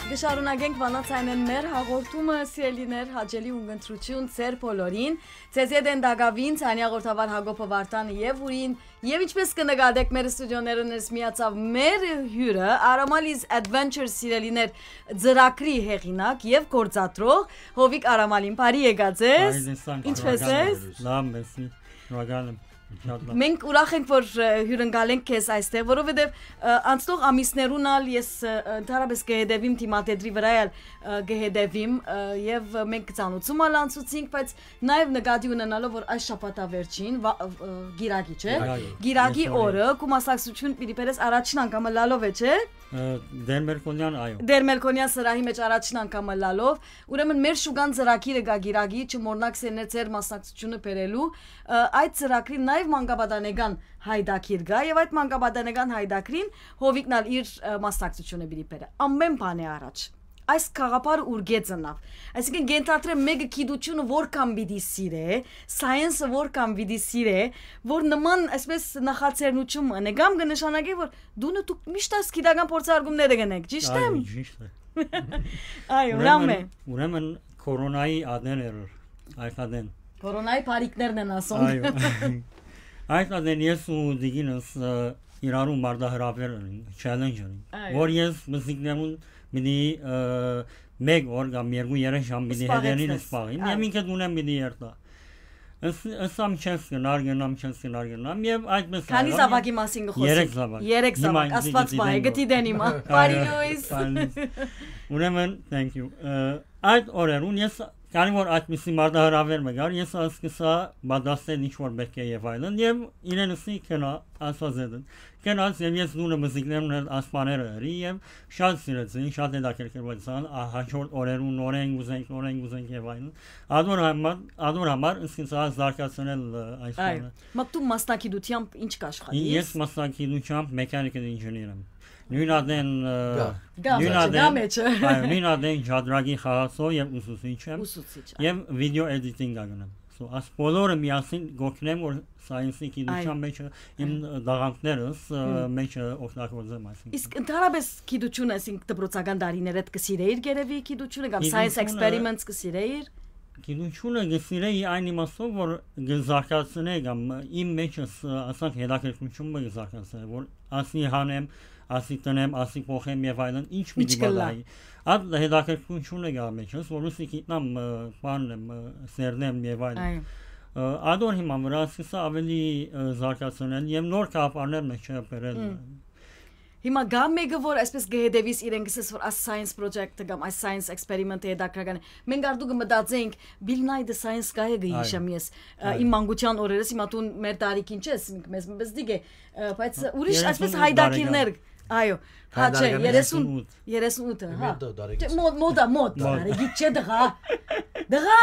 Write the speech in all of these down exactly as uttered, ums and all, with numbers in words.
Կը շարունակենք Վանաց Այնէն մեր հաղորդումը, սիրելիներ, հաճելի ունգընտրութիւն ձեր բոլորին։ Ձեզ հետ են տակաւին Ցանյա Ղորթավար, Յակոբը Վարդանը եւ Ուրին, եւ ինչպես կը նկատեք, մեր ստուդիոներուն ներս միացաւ մեր հիւրը, Aramal is Adventure, սիրելիներ, ծրագրի հեղինակ եւ գործադրող Հովիկ Արամալին։ Բարի եկած ես։ Բարի տեսանք, ինչպե՞ս ես։ Լավ, մերսի, շնորհակալ եմ։ Շատ լավ։ Մենք ուրախ ենք, որ, ը, հիւրընկալենք քեզ այստեղ, որովհետեւ, ը, անցնող ամիսներուն ալ ես, ը, ընդհանրապես կը հետեւիմ, դիմատետրի վրայ ալ, ը, կը հետեւիմ, ը, եւ մենք ծանուցում ալ անցուցինք, բայց նաեւ նկատի ունենալով, որ այս շաբաթավերջին, վա-, ը, Կիրակի, չէ՞։ Կիրակի։ Կիրակի Ես օրը, օրը քու մասնակցութիւն պիտի բերես առաջին անգամը լալով է, չէ՞։ Ը, Տեր Մելքոնեան, այո։ Տեր Մելքոնեան սրահի մէջ առաջին անգամը լալով, ուրեմն մեր շուկան ծրագիրը կայ Կիրակի, չմոռնաք սերներ ձեր մասնակցութիւնը բերելու, ը, այդ ծրագրին նաեւ մանկապատանեկան յայտագիր կայ, եւ այդ մանկապատանեկան յայտագրին Հովիկն ալ իր, ը, մասնակցութիւնը պիտի բերէ։ Ամէն բան է առաջ։ Այս գաղափարը ուրկէ ծնաւ։ Այսինքն, կենթադրեմ, մէկը գիտությունը որքան պիտի սիրէ, սայենսը որքան պիտի սիրէ, որ նման, այսպես, նախաձեռնութիւն մը, կամ կը նշանակէ, որ դունը դուք միշտ այս գիտական փորձարկումները կ'ընեք, ճիշդ Այո, եմ։ ճիշտ է։ Այո, Ուրեմն, լավ է։ Ուրեմն, կորոնայի ատեն էր, այս ատեն։ Կորոնայի բարիքներն են ասում։ Այո։ Այս ատեն ես ու Տիկինս, ը, իրարու մարտահրավեր ունենք, challenge ունենք, Այո։ որ ես մզիկներուն պիտի, ը, մեկ օր կամ երկու երեք ժամ պիտի Սպաղեցնես։ հետերին սպաղիմ, Այո։ Եւ ինքը դունեմ պիտի երթա։ Ըս-, ըսամ չես գնար, գնամ չես գնար, գնամ, եւ այդպես Քանի այո, զաւակի մասին կը խոսենք։ Երեք զաւակ։ Երեք Հիմա զաւակ, ինձ Աստված պահէ, գտի դեն։ Գտի դեն հիմա։ Այո, Բարի լոյս։ Բարի լոյս։ Ուրեմն, thank you։ Ը, այդ օրերուն ես, քանի որ այդպիսի մարտահրավեր մը կար, ես ասկսա պատասխանել ինչ որ պէտք է եւ այլն, եւ իրենսի կնա, ասած էդն։ Կնաց եւ ես դունը մզիկներուն հետ ասպաները ըրի եւ շատ սիրեցին, շատ հետաքրքրվեցան, ա, հաջորդ օրերուն նորեն կ'ուզենք, նորեն կ'ուզենք եւ այլն։ Ադոր համար, ադոր համար ինքնին սա զարգացնել, ը, այս Այո։ բանը։ Մա դու մասնագիտությամբ ինչ կաշխատես։ Ես մասնագիտությամբ mechanical engineer եմ։ Նույն ատեն, ը, Գա։ Գա նույն մեջը, ատեն, գա մեջը։ Այո, նույն ատեն Ջադրագի խաղացող եւ ուսուցիչ եմ։ Ուսուցիչ, այո։ Եւ video editing ա գնամ։ So, աս բոլորը միասին գոքնեմ, որ սայենսի գիտության Այո։ մեջը իմ Այո։ դաղանքներս, ը, Հմ։ մեջը օգտագործեմ, այսինքն։ Իսկ ընդհանրապես գիտությունը, այսինքն դպրոցական տարիներդ կը սիրեիր գերեւի գիտությունը, կամ science Գիտությունը experiments կը սիրեիր։ Գիտությունը կը սիրեի այն իմաստով, որ կը զարգացնէ կամ իմ մեջս, ը, ասանք, հետաքրքրությունը մը կը զարգացնէ, որ ասի հանեմ, ասի տնեմ, ասի փոխեմ եւ այլն, ինչ Ինչ պիտի կ'ըլլայ։ պատահի։ Այդ հետաքրքրությունը կա մեջս, որ ուսի գիտնամ, ը, բանն եմ, ը, սերնեմ եւ այլն։ Այո։ Ը, ադոր հիման վրա սկսա ավելի, ը, զարգացնել եւ նոր գաղափարներ մեջը բերել։ Հմ։ Հիմա գա մէկը, որ այսպես կը հետևիս իրեն, կսես, որ աս science project-ը կամ այս science experiment-ը հետաքրական է։ Մենք արդու կը մտածենք, Bill Nye the Science Guy-ը կը Այո։ հիշեմ ես, ը, Այո։ իմ մանկության օրերս, հիմա դուն մեր տարիքին չես, ինք մեզ մը բզդիկ է, ը, բայց Հա, ուրիշ այսպես երեսուն ութ հայդակիրներ, տարեկան։ այո, հա, չէ, Հայդակիրներ։ երեսուն, երեսուն ութ, հա։ Մոդա տարեկան։ Չէ, մո-, մոդա, մոդ, Մոդ։ Տարեկի, չէ, դղա, դղա,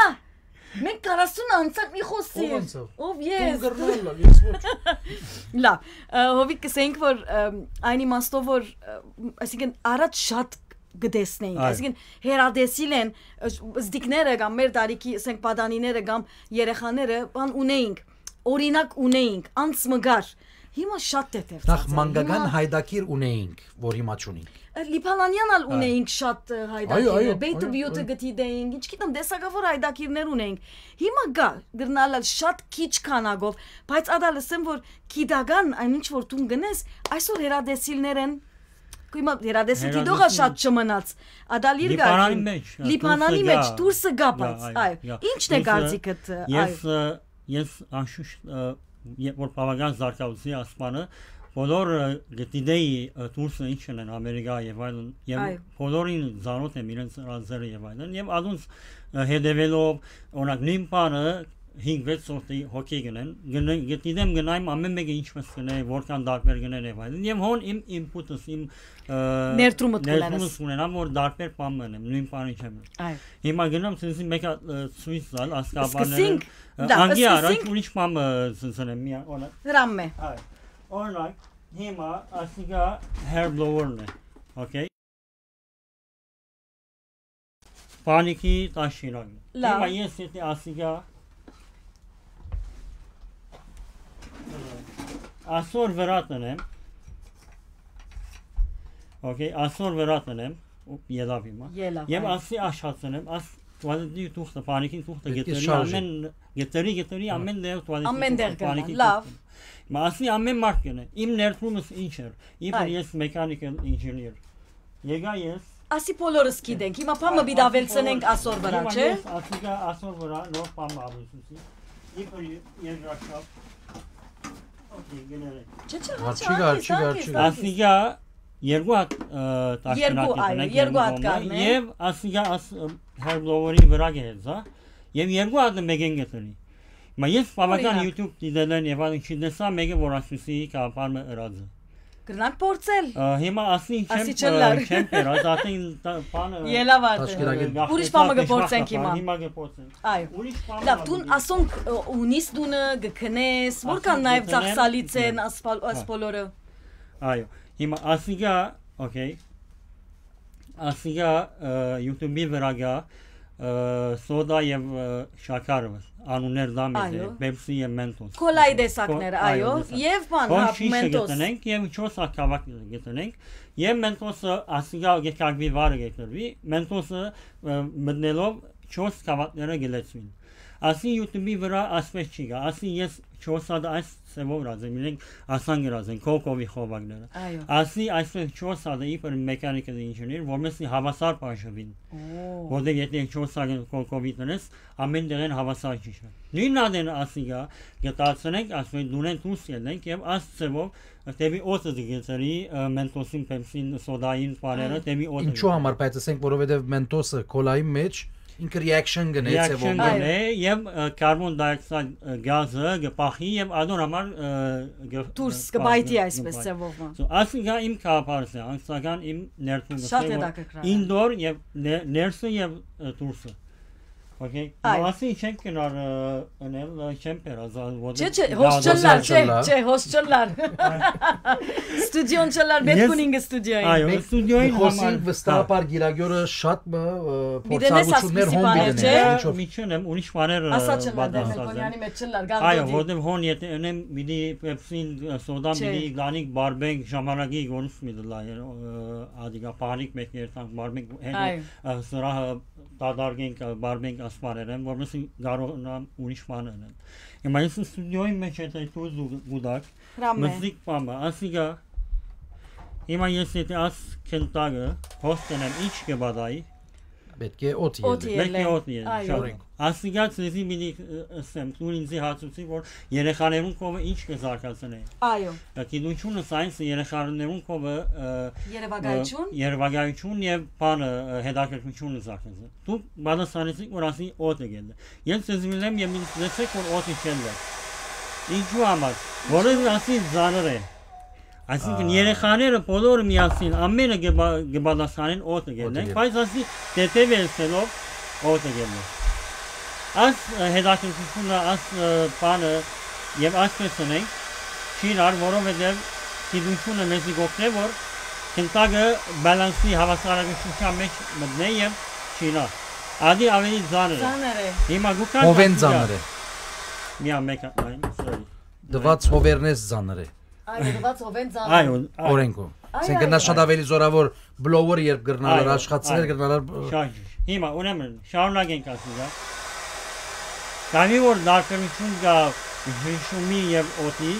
մենք քառասուն անցանք, մի խոսիր։ Ով անցավ։ Ով ես։ Դու գրնալ լալ, ես ոչ։ Լավ, ը, Հովիկ, կսենք, որ, ը, այն իմաստով, որ, ը, այսինքն, առաջ շատ կը տեսնեինք, Այո։ այսինքն, հերատեսիլ են, ը, զդիկները կամ մեր տարիքի, ասենք, պատանիները կամ երեխաները, բան ունեինք, օրինակ ունեինք, անց մը գար, հիմա շատ թեթև Նախ ցած է, մանկական հիմա հայդակիր ունեինք, որ հիմա չունենք։ Ը, Լիբանանյան ալ Այո։ ունեինք շատ, ը, Այո, հայդակիրներ, այո, Բեյթ այո, Բիութը այո։ գտի դեինք, ինչ գիտեմ, դեսակավոր հայդակիրներ ունեինք, հիմա գա, գրնալ ալ շատ քիչ քանակով, բայց ադա լսեմ, որ գիտական այն ինչ որ դուն գնես, այսօր հերատեսիլներ են, հիմա հերատեսիլ դիտողը Հերատեսիլ շատ չմնաց, ադալ իր Լիբանանի գարկին, մեջ, ա, Լիբանանի դուրսը մեջ, գա, դուրսը գա, գա, բայց, այո, այո, գա։ Ինչն է Ես, ը, կարծիքդ, ը, ես, այո։ ը, ես անշուշտ, ը, երբ որ բավական զարգացուցի ասպանը, բոլոր, ը, գտիդեի, ը, դուրսը ինչ են Ամերիկա եւ այլն, եւ Այո։ բոլորին ծանոթ եմ իրենց ռանձերը եւ այլն, եւ ադոնց, ը, հետեւելով, օրինակ, նույն բանը հինգ վեց հոգի, հոգի գնեն, գնեն, գտիդեմ գնայմ ամեն մեկը ինչպես գնե, որքան դարբեր գնեն եւ այլն, եւ հոն իմ input-ս, իմ, ը, Ներդրումդ կունենաս։ ներդրումս ունենամ, որ դարբեր բան մնեմ, նույն բանը չեմ։ Այո։ Հիմա գնամ ցնցի մեկ հատ, ը, ցույց տալ, ասկաբաները, Սկսենք, ը, դա, անգի առաջ սկսենք։ Ուրիշ բան, ը, ցնցնեմ, միա, օրինակ։ Հրամե։ Այո, օրինակ, հիմա ասիկա hair blower-ն է, okay։ Պանիքի տաշինակ։ Լավ։ Հիմա ես եթե ասիկա, ասոր վրա տնեմ, okay, ասոր վրա տնեմ, ելաւ հիմա։ Ելաւ, Եւ այո։ Ասի աշացնեմ, աս տուալետի թուղթը, պանիկին թուղթը Պետք է գտերի շարժի։ Ամեն, գտերի, գտերի Հա։ ամեն դեղ տուալետի Ամեն թուղթը, դեղ կրնա, պանիկին լավ։ թուղթը։ Մա ասի ամեն մարդ կնե, իմ ներդրումս ինչ էր, իբր Այ։ ես mechanical engineer։ Եկա ես։ Ասի բոլորս գիտենք, հիմա բան մը պիտի ավելցնենք ասոր վրա, Հիմա չէ՞։ ես ասիկա ասոր վրա նոր բան մը ավելցուցի, իբր երկրաշապ, օքեյ, գներեք։ Չէ, չէ, Հա, հա, չի գար, չի գար, չի գար։ Ասիկա երկու հատ, ը, Երկու, տաշկնակի այո, կնենք երկու հատ կողմը, կառնենք։ Եւ ասիկա աս, ը, հերբլովերի վրա կհեզա, եւ երկու հատը մեկեն կտրի։ Մա ես բավական Օրինակ։ YouTube դիտելեն եւ այլն չի տեսա մեկը, որ ասուսի կապարը ըրած է։ Կրնանք փորձել։ Ա, հիմա ասին չեմ, Ասի չըլլար։ ա, չեմ պերած, ասին տ-, բանը, Ելաւ ա, Տաշկիրագետ։ ա, Ուրիշ բան մը կփորձենք բան, հիմա։ հիմա կփորձենք։ Այո։ Ուրիշ բան Լավ, մը դուն պիտի ասոնք, ը, ունիս դունը, գքնես, որքան Ասոնք նաև գտնեն, ծախսալից են գտնեն։ ասպալ-, Հա։ ասպոլորը։ Այո, հիմա ասիկա, օքեյ, ասիկա, ը, YouTube-ի վրա գա, ը, սոդա եւ, ը, շաքարը, անուններ դա մեծ է, Այո։ Pepsi եւ Mentos։ Քոլայի տեսակներ, Քո-, այո, այո, տեսակ։ Եվ բան, Հոն հա, շիշը Mentos։ գտնենք եւ չորս հատ գավակ գտնենք, եւ Mentos-ը ասիկա գեկագվի վարը գտնվի, Mentos-ը, ը, մտնելով չորս գավակները գլեցվին։ Ասի YouTube-ի վրա ասպես չի գա, ասի ես չորս հատ այս ձևով գրած եմ, իրենք ասան գրած են, կոկովի խովակները։ Այո։ Ասի այսպես չորս հատ է իբր mechanical engineer, որ մեզ հավասար բաժնվին, Օ։ որտեղ եթե չորս հատ կոկովի տնես, ամեն տեղեն հավասար չի շա։ Նույն ադեն ասի գա, գտացնենք, ասում են դունեն դուրս ելնենք եւ այս ձևով դեպի օդը գցերի, ը, Mentos-ին, Pepsi-ին, սոդային, պաները, Այո։ դեպի օդը Ինչու գցերի։ համար, բայց ասենք, որովհետեւ Mentos-ը քոլայի մեջ ինքը reaction գնե Reaction ձևով։ գնե եւ, ը, carbon dioxide, ը, գազը գպախի եւ ադոր համար, ը, գ-, Դուրս ը, կբայթի գ-, այսպես գպայ։ ձևով, հա։ So, ասիկա իմ կապարս է, անձնական իմ ներդրումը Շատ է, որ հետաքրքրական։ Indoor եւ ներ-, ներսը եւ, ը, դուրսը։ Okay։ Այո։ Ասի չենք գնար, ը, ընել, ը, չեմ պերած, ա, որ Չէ, չէ, դա հոս դուրս չլար, է չէ, չլար։ Չէ, հոս չլար։ Ստուդիոն չլար, պետք Ես ունին ստուդիոյին։ Այո, Մենք ստուդիոյին Խոսին համար, վստահաբար հա։ Գիրագյորը շատ մը, ը, Պիտի նես փորձառություններ ասպիսի հոն պիտի բաներ, ներ, չէ՞։ Ինչով։ Միջին եմ, ուրիշ բաներ, ը, Ասա չլար, դեր պատասխան Մելքոնյանի մեջ չլար, գան Այո, դոդի։ որտեւ հոն եթե ընեմ, պիտի Pepsi-ին, ը, սոդան Չէ։ պիտի գանիք բարբենք ժամանակի գոնուս մի դլա, ը, ադիգա պահանիք մեկ երթանք բարբենք, հեն, Այո։ ը, սրահը դադարգենք, ը, բարբենք ասպարեր են, որովհետեւ կարողանամ ուրիշ բան ընեմ։ Հիմա ես ստուդիոյի մեջ եթե դու զու-, գուդակ, Հրամե։ մզիկ պամը, ասիկա, հիմա ես եթե աս քնտակը հոս տնեմ, ինչ կբադայի, Պետք է օդ Օդ ելլե։ Ելլե։ Պետք է օդ ելլե, Այո։ շատ։ Օրենք։ Ասիկա ցեզի պիտի, ը, ըսեմ, դու ինձի հարցուցի, որ երեխաներուն կովը ինչ կզարգացնե։ Այո։ Ը, գիտությունը, սայենսը երեխաներուն կովը, ը, Երևակայություն։ ը, երևակայություն եւ բանը, ը, հետաքրքրությունը զարգացնե։ Դուք պատասխանեցիք, որ ասի օդը գելլե։ Ես ցեզի միլեմ եւ ինձ լսեք, որ օդը չելլե։ Ինչու համար։ Որովհետեւ ասի զանր է։ Այսինքն Ա։ երեխաները բոլորը միասին, ամենը կը բա-, կը պատասխանեն օդը Օդը գելնենք, գելնենք։ բայց ասի դետեւ ելսելով օդը գելնենք։ Աս, ը, հետաքրքրությունը, աս, ը, բանը եւ այսպես ընենք, չի իրար, որովհետեւ գիտությունը մեզի կօգնէ, որ քնտակը բալանսի հավասարակշռության մեջ մտնէ եւ չինա։ Ադի ավելի ծանր է։ Ծանր է։ Հիմա գուքան Հովեն ասի դա։ Ծանր է։ Միա մեկ հատ նայեմ, sorry։ Դված հովերնես ծանր է։ Այո, դված հովեն ծանր է։ Այո, այո։ Օրենքով։ Այ, Սեն այ, կնա շատ այ։ ավելի զորավոր բլոուեր երբ գրնալար, Այո, աշխատցներ այո։ գրնալար, բ- Շատ ճիշտ։ Հիմա, ուրեմն, շարունակենք ասել, հա։ Կամի որ դարբերություն կա հիշումի եւ օդի,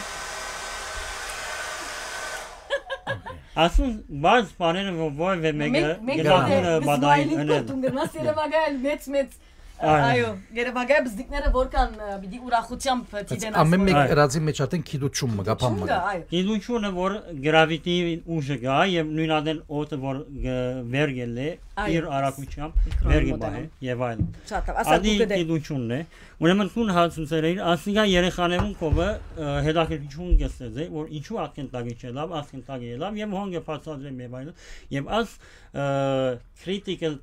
ասուն բաց բաները, որ որևէ մեկը Մենք, մենք, գտան մենք, մը բադային Սմայլին ընել։ կտուն գրնաս երևակայել մեծ, մեծ, Այո։ այո, երևակայ բզդիկները որքան, ը, պիտի ուրախությամբ Բայց դիտեն ամեն մեկ ասում։ Այո։ Երազի մեջ արդեն գիտություն մը կա, բան Գիտություն մը կա, կա։ այո։ Գիտությունը, որ գրավիտի ուժը կա եւ նույն ադեն օդը, որ գ-, վեր գելլե, Այո։ իր արագությամբ Միկրոն վեր մոդելում։ կբահե եւ այլն։ Շատ լավ, ասա Ադի դուք գտե։ գիտությունն է։ Ուրեմն դուն հարցուցեր էիր, ասիկա երեխաներուն կովը, ը, հետաքրքրություն կստեղծե, որ ինչու ատքեն տակի չելավ, ասքեն տակի ելավ եւ հոն կը բացատրեմ եւ այլն, եւ աս, ը, critical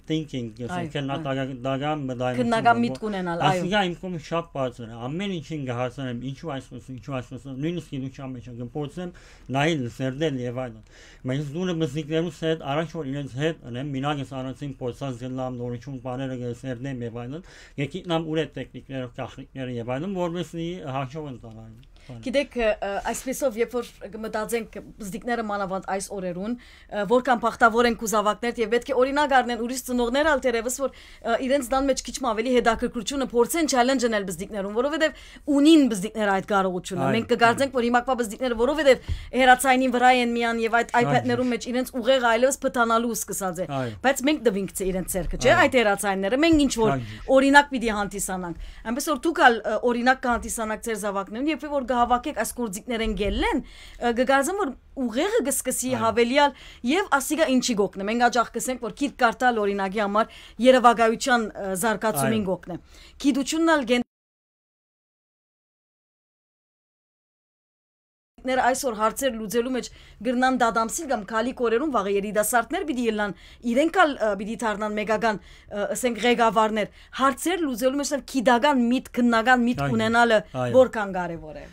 thinking, Այո, քննադատական մտայնություն, Քննական որ միտք ունենալ, այո։ Ասիկա իմ կողմը շատ բարձր է, ամեն ինչին կհարցնեմ, ինչու այսպես, ինչու այսպես, նույնիսկ գիտության մեջ կփորձեմ նայել, սերտել եւ այլն։ Բայց դուրը մզիկներուս հետ, առաջ որ իրենց հետ ընեմ, մինակ ես առաջին փորձած գնամ, նորություն բաները կսերտեմ եւ այլն, կգիտնամ ուր է տեխնիկները, գաղտնիքները եւ այլն, որովհետեւ հաջող ընտանան։ Գիտեք, ը, ը, այսպեսով, երբ որ կը մտածենք, բզդիկները մանավանդ այս օրերուն, ը, որքան բախտաւոր են կու զաւակներ, եւ պէտք է օրինակ առնեն ուրիշ ծնողներ ալ թերեւս, որ, ը, իրենց տան մեջ քիչ մը ավելի հետաքրքրությունը փորձեն challenge-նել բզդիկներուն, որովհետեւ ունին բզդիկները այդ կարողությունը։ Այո, Մենք կգարձենք, որ հիմա կվա բզդիկները, որովհետեւ հեռացայինին վրայ են միան եւ այդ Այո, iPad-ներուն մեջ իրենց ուղեղը այլեւս փտանալու սկսած է։ Այո։ Բայց մենք տվինք, չէ, իրենց ձեռքը, չէ՞, Այո։ այդ հեռացայինները, մենք ինչ որ Այո։ օրինակ պիտի հանդիսանանք։ Այնպես որ դուք ալ, ը, օրինակ կհանդիսանաք ձեր զաւակներուն, երբ որ կհաւաքեք այս գործիքներեն գելլեն, ը, կգարձեմ, որ ուղեղը կսկսի Այո։ հավելյալ եւ ասիկա ինչի կօգնե։ Մենք աջախ կսենք, որ գիրք կարդալ, օրինակի համար, երևակայության, ը, զարգացումին Այո։ կօգնե։ Գիտությունն ալ կեն- ներ այսօր հարցեր լուծելու մեջ կրնան դադամսիլ կամ քալի կորերուն վաղը երիտասարդներ պիտի ելնան, իրենք ալ, ը, պիտի դառնան մեկական, ը, ասենք, ղեկավարներ։ Հարցեր լուծելու մեջ ալ գիտական միտք, քննական միտք Այո, ունենալը այո։ որքան կարեւոր է։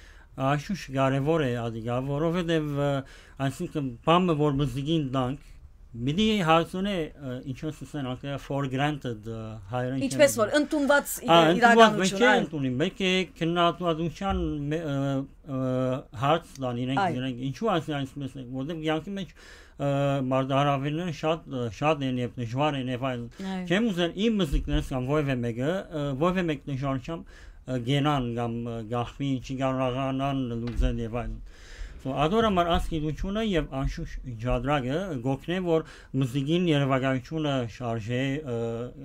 Աշուշ կարեւոր է, ադիգա, որովհետեւ, ը, այսինքն, բամը որ մզիկին տանք, պիտի հարցունե, ը, ինչպես ասեն անգլիա, for granted, ը, հայերեն Ինչպես չեմ որ, ընդունված Ա, իրականություն, ընդունված այլ։ Մեկը ընդունի, մեկը քննադատության մե-, ը, ը, հարց տան իրենք, Այո։ իրենք, ինչու ասի այսպես է, որտեղ կյանքի մեջ, ը, մարտահրավերները շատ, ը, շատ են եւ դժվար են եւ այլն։ Այո։ Չեմ ուզեր իմ մզիկներս կամ որևէ մեկը, ը, որևէ մեկ դժվարությամբ, ը, գենան կամ, ը, գախվի, չի կարողանան լուծել եւ այլն։ So, ադոր համար այս գիտությունը եւ անշուշտ ջադրակը գօգնե, որ մզիկին երևակայությունը շարժե, ը,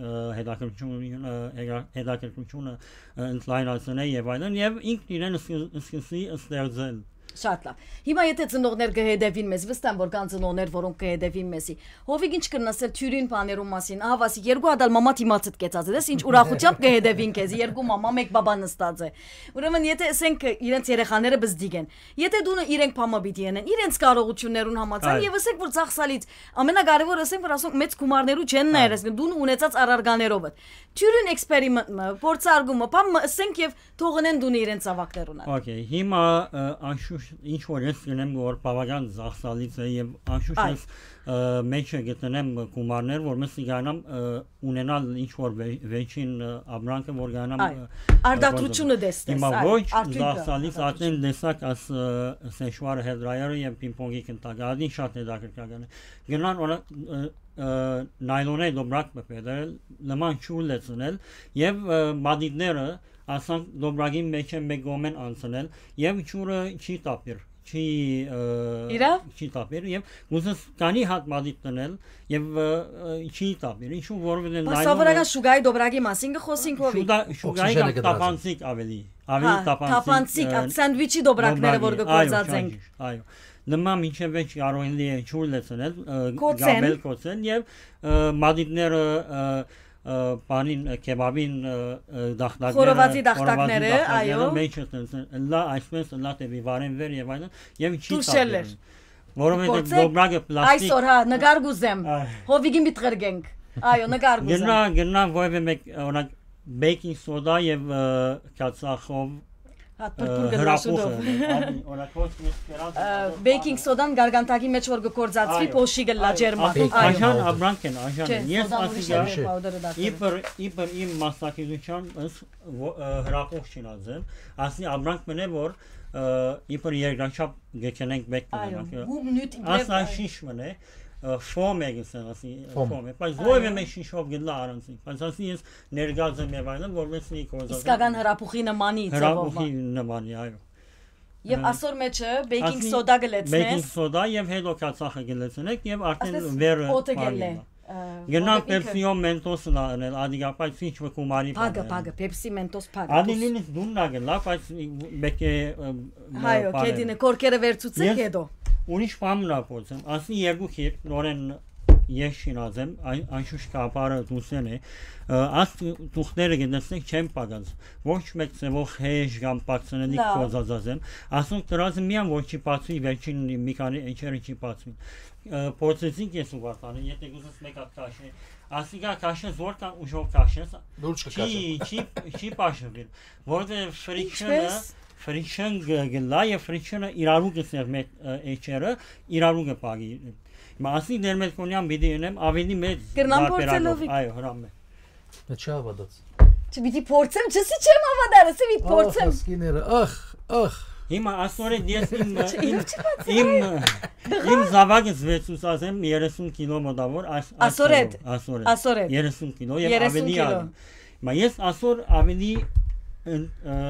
ը, հետաքրքրությունը, ը, հետա-, հետաքրքրությունը, ը, ընդլայնացնե եւ այլն, եւ ինքն իրեն սկս-, սկսի ստեղծել։ Շատ լավ։ Հիմա եթե ծնողներ կը հետևին մեզ, վստահ եմ, որ կան ծնողներ, որոնք կը հետևին մեզի։ Հովիկ ինչ կրնաս էլ թիւրին բաներուն մասին, ահա, ասի, երկու հատ ալ մամա դիմացդ կեցած է, դες ինչ ուրախությամբ կը հետևին քեզի, երկու մամա, մեկ բաբա նստած է։ Ուրեմն, եթե, ասենք, իրենց երեխաները բզդիկ են, եթե դունը իրենք բամը պիտի ընեն, իրենց կարողություններուն համաձայն, Այո։ եւ ասենք, որ ծախսալից, ամենակարեւորը, ասենք, որ ասոնք մեծ գումարներու չեն նայեր, Այո։ այսինքն դունը ունեցած առարկաներովդ։ Թիւրին էքսպերիմենտ մը, փորձարկումը, բան մը, ասենք, եւ թողնեն դունը իրենց զաւակներուն ալ։ Okay, հիմա, ը, անշուշտ ինչ որ ես գնեմ, որ բավական ծախսալից է եւ անշուշտ Այո։ ես, ը, մեջը գտնեմ գումարներ, որ մս իգանամ, ը, ունենալ ինչ որ վե-, վերջին, ը, ապրանքը, որ գանամ, Այո։ ը, Արդարացումը ը, տեսնես, հիմա այո, ոչ, արդյունքը, ծախսալից արդեն արդարացում։ Տեսակ աս, ը, սեշվարը, հեդրայարը եւ պինգ-պոնգի կնտակը, ադին շատ հետաքրքրական է։ Գնան, օրը, ը, ը, նայլոնե դոբրակ մը փետել, նման չուլ լեցնել եւ, ը, մատիտները, ասանք, դոբրագին մեջ է մեկ կողմեն անցնել եւ ջուրը չի տապիր, չի, ը, Իրա՞։ չի տապիր եւ ուզես կանի հատ մատիտ տնել եւ, ը, ը, չի տապիր, ինչու որովհետեւ Բայց նայլոնը սովորական շուգայի դոբրագի մասին կը խոսենք, Հովիկ։ Շուտա-, շուգայի Օքսիժենը կամ կտրած է։ Տապանցիկ ավելի, ավելի Հա, տապանցիկ, տապանցիկ, ը, այդ սանդվիչի դոբրակները, որ դոբրագի, կը այո, գործածենք։ ճիշտ, այո։ Նման մինչեւ վեճ կարող են լի-, ջուր լեցնել, ը, Կոցեն։ գաբել կոցեն եւ, ը, մատիտները, ը, ը, բանին, ը, քեբաբին, ը, ը, դախտակները, Խորովածի դախտակները, խորովածի դախտակները այո։ Մեջ են, լա, այսպես, լա դեպի վարեն վեր եւ այլն, եւ չի Դուրս ելլեր։ տապիրում։ Որովհետեւ Գործեք դոբրագը պլաստիկ այսօր, հա, նկար կուզեմ։ Այ։ Հովիգին պիտի ղրկենք։ Այո, նկար կուզեմ։ Գնա, գնա, որևէ մեկ, օրինակ, բեյքինգ սոդա եւ, ը, քացախով, Հա, ը, պրպուր գնա հրապուխը, շուտով։ Ա, օրինակ, հոս մյուս կերած Ը, բեյքինգ սոդան գարգանտակի մեջ որ կգործածվի, Այո, փոշի գլա այո, ջերմակ։ Ասի, Այո։ Աշան ապրանք են, աշան Չէ, են։ Ես սոդան ուրիշ ասի է, գա-, Չէ։ պաուդերը դարձել։ իբր, իբր իմ մասնակցության ըս, ո-, ը, հրապուխ չինած եմ, ասի ապրանք մնե, որ, ը, իբր երկրաչափ գեքենենք մեկ Այո, մենակ, ը, հում նյութ իբրև, ասա այո։ շիշ մնե, ը, ֆոմ է գսեն, ասի, Ֆոմ։ ֆոմ է, բայց Այո։ որևէ մեկ շիշով գլա առանցին, բայց ասի ես ներգած եմ եւ այլն, որ մեզ մի կորզած Իսկական հրապուխի նմանի ձևով։ հրապուխի նմանի, այո։ Եւ Ը, ասոր մեջը բեյքինգ ասի սոդա գլեցնես։ բեյքինգ սոդա եւ հետո քացախը գլեցնեք եւ արդեն Ասես վերը օդը պարին գելլե, գա։ ը, Գնա օդը ինքը։ Պեպսիո մենտոսն ա անել, ադիգա, բայց ինչ մը կումարի Փագը, բան է։ փագը, Պեպսի մենտոս փագը, Ադի դուս։ նույնիսկ դունն ա գլա, բայց մեկե, ը, Հայո, պարեն։ Կեդինը, կորքերը վերցուցեք Ես հետո։ ուրիշ բան մնա փորձեմ, ասի երկու քիթ նորեն ես շինած եմ, այն, անշուշտ կապարը դուսեն է, ը, աս թուղթները կտեսնեք չեմ պակած, ոչ մեկ ձևով հեշ կամ պակցնելի Լավ։ կոզածած եմ, ասոնք դրած եմ միան, որ չի պացվի, վերջին մի քանի էջերը չի պացվի։ Ը, փորձեցինք ես ու Վարդանը, եթե կուզես մեկ հատ քաշե, ասիկա քաշես, որքան ուժով քաշես, Լուրջ չի, կքաշեմ։ չի, չի պաշտվի, որտեղ friction-ը, Ինչպես? friction գ-, գլա եւ friction-ը իրարու կսեր մեկ, ը, էջերը, իրարու կպագի։ Հիմա ասի դեր մեծ կոնյան պիտի ունեմ ավելի մեծ Կրնամ փորձել, վարպերակով, Հովիկ։ այո, հրամ է։ Դա չի հավատաց։ Չպիտի փորձեմ, չսի չեմ հավատար, ասի պիտի Ախ, փորձեմ։ Ասկիները, ախ, ախ։ Հիմա ասորետ ես իմ, իմ, իմ, իմ զաւակս վեցուցած եմ երեսուն կիլո մոտաւոր, աս-, Ասորետ։ Ասորետ։ Երեսուն կիլո, եւ Երեսուն ավելի կիլո։ Ալ-, հիմա ես ասոր ավելի, ը, ը,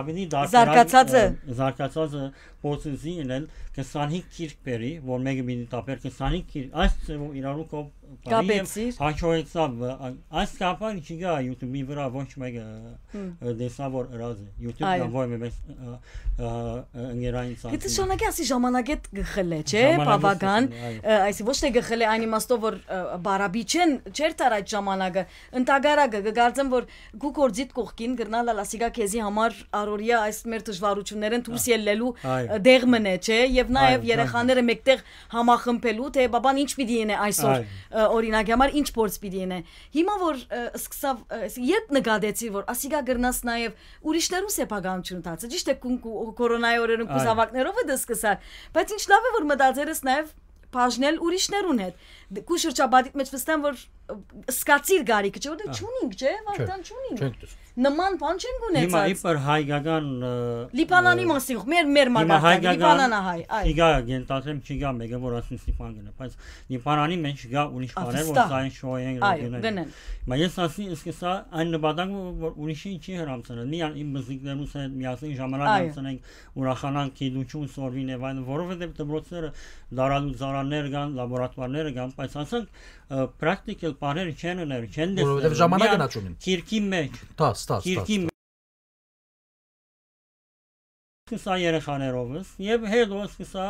ավելի դարձ Զարգացած է։ Ը, զարգացած է փորձեցի ինել քսանհինգ գիրք բերի, որ մեկը պիտի տապեր քսանհինգ գիրք, այս ձեւով իրարու կապ Կապեցիր։ Հաջողեցաւ, ը, այս կապը չի գա YouTube-ի վրա, ոչ մեկը, Հմ։ ը, տեսա, որ ըրած է YouTube Այո։ կամ որևէ մեծ, ը, ը, ը, ընկերային Գիտես, ցանցի։ Շանակի ասի ժամանակետ գխլե, չէ, Ժամանակետ բավական, գխլե, այո։ ը, այսի ոչ թե գխլե այն իմաստով, որ, ը, բարաբի չեն, չէր տար այդ ժամանակը, ընդհակառակը, կգարձեմ, որ քու գործիդ կողքին կրնալ ալ ասիկա քեզի համար առօրյա այս մեր դժվարություններեն դուրս Ա, ելլելու, այո, ը, դեղ մնե, չէ, եւ նաեւ Այո, երեխաները մեկտեղ համախմբելու, թե բաբան ինչ պիտի ինե այսօր, Այո։ ը, օրինակի համար ինչ փորձ պիտի ինե։ Հիմա որ, ը, սկսավ, ը, երբ նկատեցի, որ ասիկա կրնաս նաեւ ուրիշներուն սեփականությունը դարձը, ճիշտ է, կուն-, կու-, կորոնայի օրերուն Այո։ կուզաւակներով է դա սկսար, բայց ինչ լավ է, որ մտածեր ես նաեւ բաժնել ուրիշներուն հետ։ Դ-, քու շրջապատիդ մեջ վստահ եմ, որ, ը, սկացիր գարիքը, չէ՞, որտեղ Ա։ չունինք, չէ՞, Չէ, Վարդան, չունինք։ չենք դուր։ Նման բան չենք Հիմա ունեցած։ իբր հայկական, ը, Լիբանանի ը, մասին, մեր, մեր հիմա մակարդակը, հայկական Լիբանանահայ, այ։ չի գա, գենտացեմ չի գա մեկը, որ ասում Լիբան գնա, բայց Լիբանանի մեջ գա ուրիշ Ա, բաներ, որ վստահ։ սա են շոյեն Այո, գնեն։ գնեն։ Հիմա ես ասի, սկսա այն նպատակը, որ ուրիշին չի հրամցնել, միան իմ բզիկներուս հետ միասին ժամանակ Այո։ անցնենք, ուրախանանք, գիտություն սորվին եւ այլն, որովհետեւ դպրոցները դարալուծարաններ կան, լաբորատուարները կան, բայց ասենք, ը, պրակտիկալ բաները չեն ուներ, չեն Որովհետեւ տեսնել, ժամանակը միան նա չունին։ Քիրքի մեջ, Տաս, տաս, քիրքի տաս, տաս։ Սկսա երեխաներովս եւ հետո սկսա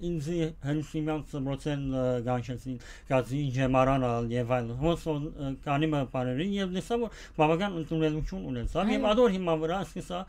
ինձի հնսիմյան ծմրոցեն, ը, գանչեցին, գացին ջեմարան ալ եւ այլն։ Հոս, ը, կանի մը բաներին եւ լսա, որ բավական ընդունելություն ունեցավ եւ Այո։ ադոր հիմա վրա սկսա,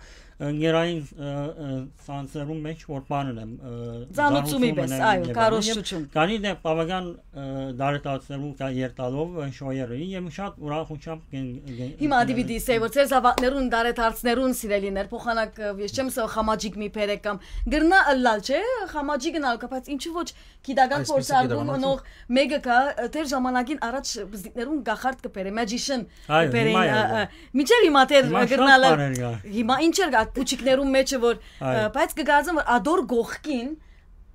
ը, գերային, ը, ը, ցանցերուն մեջ որ բան ունեմ, ը, Ծանուցումի ծանուցում պես, ունեմ այո, եւ այլն։ Քարոզչություն։ Եւ կանի դե բավական, ը, դարետացերուն կա երթալով, ը, շոյերը եւ շատ ուրախությամբ կեն-, կեն-, Հիմա ադի պիտի սեյ, որ ձեր զավակներուն, դարեթարցներուն սիրելիներ, փոխանակ, ը, ես չեմ սա խամաճիկ մի բերեք կամ գրնա ըլլալ, չէ՞, խամաճիկ ընալ կա, բայց ինչու ոչ գիտական Այսպիսի փորձարկում գիտական ունող մեկը կա, ը, դեր ժամանակին առաջ բզիկներուն գախարդ կբերե, magician Այո, կբերեին, հիմա ը, է, ը, մինչև հիմա դեր Հիմա շատ գրնալը, բաներ կա։ հիմա ինչ էր կա, փուչիկներուն մեջը որ, Այո։ ը, բայց կգարձեմ որ ադոր գողքին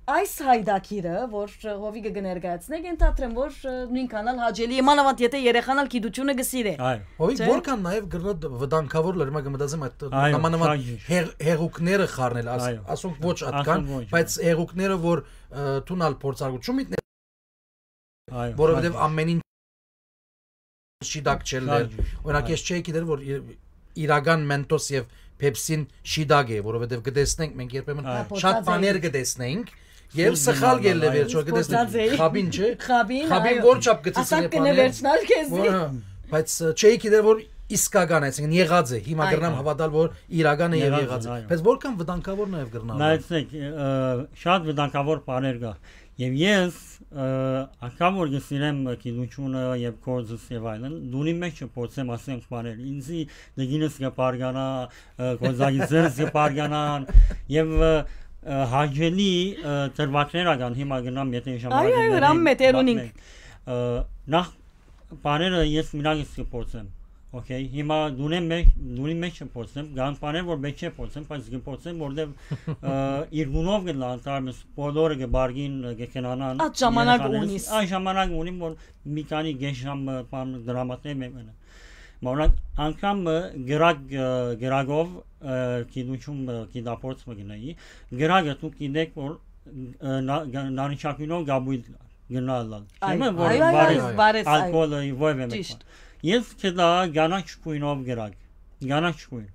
այս հայդակիրը, որ, ը, հովիգը կներկայացնեք, ենթադրեմ որ, ը, նույնքան ալ հաճելի է, մանավանդ եթե երեխան ալ գիտությունը կսիրե։ Այո։ Հովիկ, Չէ՞։ որքան նաև գրնա դ-, վտանգավոր լրմա կմտածեմ այդ Այո, նմանավան շատ ճիշտ։ հեղ-, հեղուկները խառնել, աս-, Այո։ ասոնք ոչ Ասոնք ատկան, ոչ, բայց այո։ հեղուկները որ, ը, դուն ալ փորձարկու-, չու միտներ Այո, որովհետև շատ ճիշտ։ ամեն ինչ շիտակ չելներ։ Շատ ճիշտ, Օրինակ, այո։ ես չէի գիտեր, որ իր-, իրական Mentos և Pepsi-ն շիտակ է, որովհետև կտեսնենք, մենք երբեմն Այո։ շատ Փորձած բաներ էի։ կտեսնենք, և Սուր սխալ գնալ, գելլե այո։ վերջո, կտեսնենք Փորձած էի։ խաբին, չէ՞։ Խաբին, Խաբին այո։ որ չափ գցեցին Ասանք է կնե պաները, վերջնալ քեզի։ որ, հա, բայց, ը, չէի գիտեր, որ իսկական է, այսինքն եղած է, հիմա Այո։ կրնամ հավատալ, որ իրական է և Եղած է, եղած է։ այո։ Բայց որքան վտանգավոր նաև կրնալ։ Նայեցեք, ը, շատ վտանգավոր բաներ կա։ Եվ ես, ը, անգամ որ կսիրեմ գիտությունը և գործս և այլն, դունի մեջ չփորձեմ ասենք բաներ, ինձի դգինս կպարգանա, ը, կոզագիցերս կպարգանան, և, ը, ը, հաճելի, ը, դրվագներ ական հիմա գնամ, եթե Այո, ժամանակ այո, ունենայ, հրամ մետեր ունինք։ պատմեմ։ Ը, նախ բաները ես մինակ ես կփորձեմ, օքեյ, հիմա դունի մեջ, դունի մեջ չփորձեմ, կան բաներ, որ մեջ չփորձեմ, բայց կփորձեմ, որտեվ, ը, իր գունով կլան, կարմես բոլորը կբարգին, կքնանան Այդ ժամանակ երեխաներս, ունիս։ Այդ ժամանակ ունիմ, որ մի քանի գեշ ժամ, ը, բան դրամատներ մեմ ընեմ։ Մա օրինակ, անգամ, ը, գրակ, ը, գրակով, ը, գիտություն, ը, գիտափորձ մը գնայի, գրակը դուք գիտեք, որ, ը, նա-, գա-, նարնջագույնով գաբույտ գնալալ։ Այո, Չէ՞, որ այո, այո, վարես այո, վարես, այո։ ալկոհոլը, որևէ մեկ Ճիշտ։ բան։ Ես կդա գանաչ գույնով գրակ, գանաչ գույն։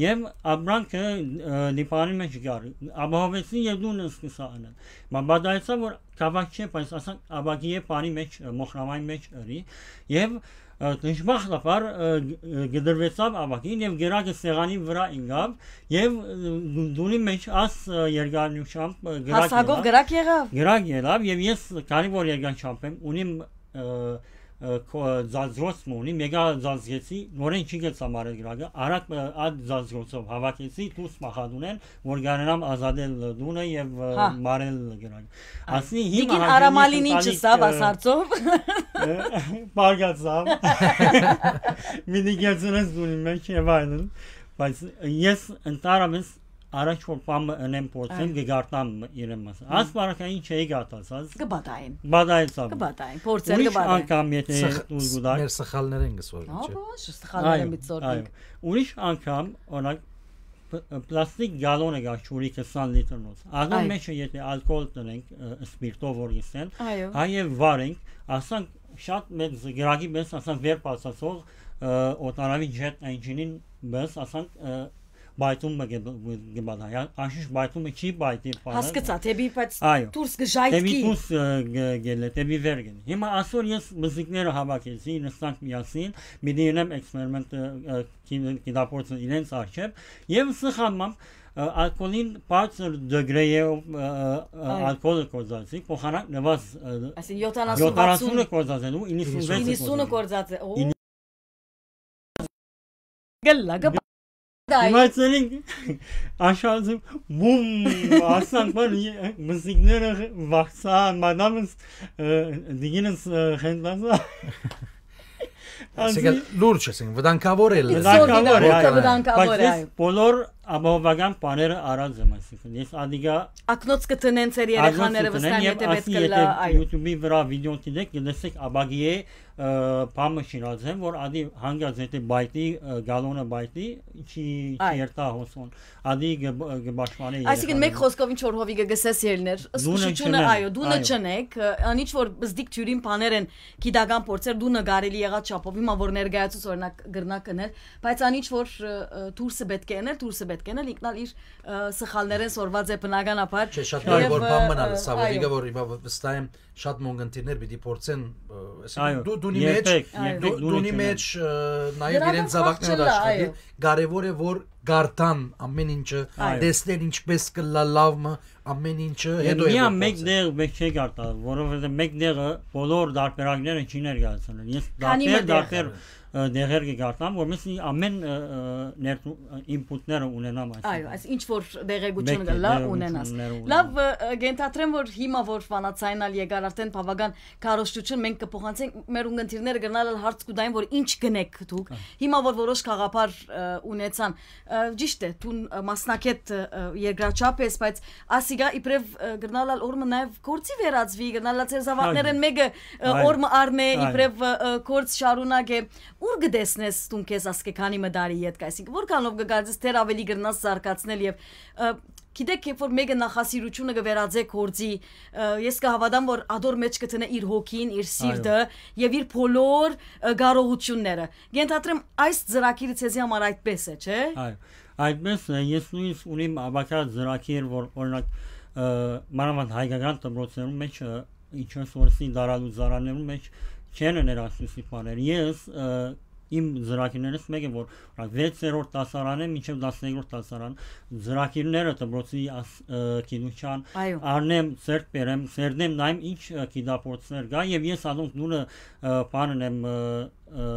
Եվ ապրանքը, ը, Լիբանանի մեջ գար, ապահովեցի և դուն սկսա անել։ Մա բադայեցա, որ կավակ չէ, բայց ասանք ապակի է պանի մեջ, ը, մոխրամայի մեջ ըրի, և, ը, դժբախտաբար, ը, ը, գդրվեցավ ապակին և գրակը սեղանի վրա ինգավ, և, ը, դունի մեջ աս, ը, երկարնությամբ, ը, գրակ Հասակով եղավ։ գրակ եղավ։ Գրակ եղավ, և ես քանի որ երկար չափ եմ, ունիմ, ը, ը, քո-, ձանձրոց մը ունի, մեկա ձանձրեցի, նորեն չի գցա մարել գրակը, արագ, ը, այդ ձանձրոցով հավաքեցի, դուրս մախադունեն, որ գարենամ ազատել դունը և, ը, Հա։ մարել գրակը։ Այ, Ասի, հիմա դիգին հաճելի Արամալին ինչ շտալիկ, սավ ը, ասարձով։ ը, բարգացավ։ Մինի գերցնես դունի մեջ և այլն, բայց ես ընդհանրապես առաջ որ բան մը ընեմ փորձեմ, Այո։ կը գարտամ իրեն մասը։ Հմ։ Ասպարակային չէի գարտացած։ Կը պատային։ Պատայեցաւ։ Կը պատային, փորձեր Ուրիշ կը պատային։ անգամ եթե Սխ-, դուր գուտակ։ մեր սխալներեն կը սորվի, Ա, չէ՞։ Ոչ, սխալները Այո, մի ծորգինք։ այո։ Ուրիշ անգամ, օրինակ, պ-, պլաստիկ գալոնը կա ջուրի քսան լիտրնոց։ Ադոր Այո։ մեջ եթե ալկոհոլ տնենք, ը, սպիրտով որ գսեն, Այո։ հայ եւ վարենք, ասանք շատ մեծ գրագի մեզ, ասանք վեր բացացող, ը, օտանավի ջեթ էնջինին մեզ, ասանք, ը, պայթում մը կը, կը բանայ, հա, անշուշտ պայթումը չի պայթի բանը։ Հասկացա, դէպի, բայց Այո։ դուրս կը ժայթքի։ Դէպի դուրս, ը, գ-, գելլէ, դէպի վեր գելլէ։ Հիմա ասոր ես մզիկները հավաքեցի, նստանք միասին, պիտի ընեմ էքսպերիմենտը, ը, կին-, կինապորցը իրենց առջեւ, եւ սխալմամբ, ը, ալկոհոլին բարձր դեգրեյով, ը, ը, Այո։ ալկոհոլը կործացի, փոխանակ նվազ, ը, Այսինքն, յոթանասուն, յոթանասունը վաթսուն, կործացելու, իննսունվեցը իննսունը կործացի։ կործացի, օ, Իննս- գլլա, գ-, Դայ։ Իմացել ենք, աշազը բում, ասանք, բան, ե-, մզիկները վախցան, մադամս, ը, դիգինս, ը, խենթացա։ Այսինքն, լուրջ, այսինքն, վտանգավոր է It's լը։ Վտանգավոր է, Սորգինը այո, այո։ վտանգավոր Բայց է, ես այո։ բոլոր ապահովական բաները առած եմ, այսինքն, ես ադիգա Ակնոց կը տնեն ձեր երեխաները, Ակնոց կը տնեն վստահ եմ, եւ եթե պետք ասի, կլա, եթե այո։ YouTube-ի վրա վիդեոն դիտեք, կտեսնեք, աբագիե, ը, բամը շինած են, որ ադի հանգած եթե պայթի, ը, գալոնը պայթի, չի, չի Այո։ երթա հոսոն, ադի կը, կը պաշտպանե Այսինքն, երեխաները։ մեկ խոսքով ինչ որ Հովիկը գսես ելներ, Դունը սպշությունը, չնեն, այո, դունը այո։ չնեք, ը, ան ինչ որ բզդիկ թիւրին բաներ են, գիտական փորձեր, դունը կարելի եղած չափով, հիմա որ ներկայացուց օրինակ գրնակ կնել, բայց ան ինչ որ, ը, ը, դուրսը պետք է եներ, դուրսը պետք է ենել, ինքնալ իր, ը, սխալներեն սորված է բնականաբար, Չէ, շատ բարի, եւ, որ բան մնալ, ը, սա, Հովիկը, այո։ որ հիմա վստահ եմ, շատ մոնգընտիրներ պիտի փորձեն, ը, այսինքն Այո, դու դունի մեջ, երբեք, Այո։ երբեք դու, դունը դունի չնեն։ մեջ, ը, նաև Դրական իրենց զավակները խախճելա, աշխատի, այո։ կարևոր է, որ գարտան ամեն ինչը, Այո։ տեսնեն ինչպես կլա լավ մը, ամեն ինչը Եւ հետո է միան որ մեկ փորձեն։ դեղ մեկ չի գարտալ, որովհետեւ մեկ դեղը բոլոր դարբերակները չի ներկայացնել։ Ես Քանի դարբեր, մը դեղ։ դարբեր, ը, դեղեր կգարտամ, որովհետեւ ամեն, ը, ը, ներդրու-, ը, ինպուտները ունենամ, այսինքն։ Այո, այս ինչ որ դեղեցություն Մեկ կլա դեղեցությունները ունենաս։ ունենամ։ Լավ, ը, ը, կենթադրեմ, որ հիմա որ վանացային ալ եկար արդեն բավական քարոշչություն, մենք կփոխանցենք, մեր ունգընտիրները գնալ ալ հարց կուտային, որ ինչ գնեք դուք։ Ա։ Հիմա որ որոշ գաղափար, ը, ունեցան, ը, ճիշտ է, դուն, ը, մասնակետ, ը, ը, երկրաչափ ես, բայց ասիգա իբրև, ը, գնալ ալ օրը մը նաև գործի վերածվի, գնալ ալ ձեր զավակներեն Այո։ մեկը, ը, Այո։ օրը մը առնե, Այո։ իբրև, ը, ը, գործ շարունակե, ուր կտեսնես դուն քեզ ասկե քանի մը տարի ետք, այսինքն որքանով կկարծես դեռ ավելի կրնաս զարգացնել եւ, ը, գիտեք, երբ որ մեկը նախասիրությունը կվերածե գործի, ը, ես կհավատամ, որ ադոր մեջ կտնե իր հոգին, իր Այո։ սիրտը եւ իր բոլոր, ը, կարողությունները։ Կենթադրեմ, այս ծրագիրը ձեզի համար այդպես է, չէ՞։ Այո, այդպես է, ես նույնիսկ ունիմ ավագա ծրագիր, որ օրինակ, ը, մանավանդ հայկական դպրոցներում մեջ, ը, ինչպես օրսի դարալուծարաններում մեջ չեն ներասուսի բաներ։ Ես, ը, իմ ծրագիրներս մեկը, որ օրինակ վեցերորդ դասարանէ մինչեւ տասներկրորդ դասարան ծրագիրները դպրոցի աս-, ը, գիտության Այո։ առնեմ, ձեռք բերեմ, սերնեմ նայեմ ինչ, ը, գիտափորձներ կա եւ ես անոնք նույնը, ը, բանն եմ, ը, ը,